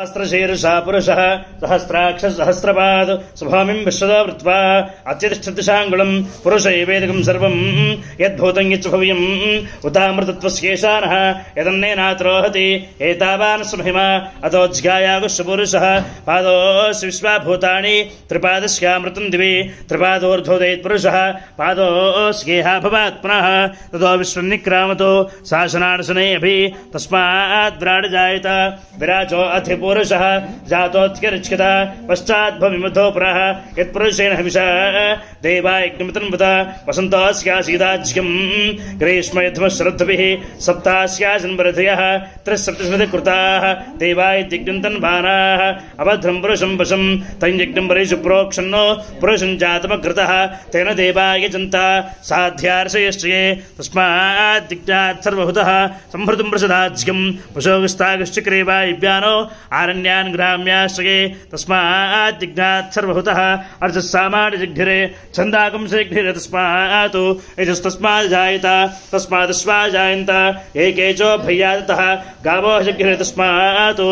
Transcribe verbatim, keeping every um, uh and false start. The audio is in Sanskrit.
सहस्रशीर्षा पुरुषः सहस्राक्ष सहस्रपाद स्वभामिम् विश्वदा वृत्वा अत्यतिष्ठतिशाङ्गुलम् पुरुष एवेदकम् सर्वम् यद्भूतम् यच्च भव्यम् उतामृतत्वस्येषानः यदन्नेनात्रोहति एतावान् स्वमहिमा अतोज्गायागुश्च पुरुषः पादोऽस्य विश्वाभूतानि त्रिपादस्यामृतम् दिवि त्रिपादोर्ध्वोदयेत् पुरुषः पादोऽस्येहा भवात् पुनः ततो विश्वन्निक्रामतो शासनार्शने अभि तस्मात् विराड जायत विराजो अथ पुरुषः जातोऽत्यर्चिता पश्चाद्भविमधो पुरः यत्पुरुषेण हविषा देवा यज्ञमितन्वत वसन्तोऽस्यासीदाज्यम् ग्रीष्मयध्मश्रद्धभिः सप्तास्याजन्मरथयः त्रिसप्तस्मृतिकृताः देवा इत्यज्ञन्तन्वानाः अभद्रम् पुरुषम् वशम् तञ्यज्ञम् वरेषु प्रोक्षन्नो पुरुषम् जातमकृतः तेन देवा यजन्ता साध्यार्षयश्चये तस्माद्दिग्नात् सर्वहुतः संहृतम् प्रसदाज्यम् पशोगस्तागश्चक्रे वायव्यानो आरण्यान् ग्राम्याश्रये तस्मात् दिग्नात् सर्वहुतः अर्चस्सामान्यजिघ्निरे छन्दागुंसजिघ्निरे तस्मात् यजस्तस्मात् जायत तस्मादश्वा जायन्त एकेचो भय्यादतः गावो जिघ्निरे तस्मात्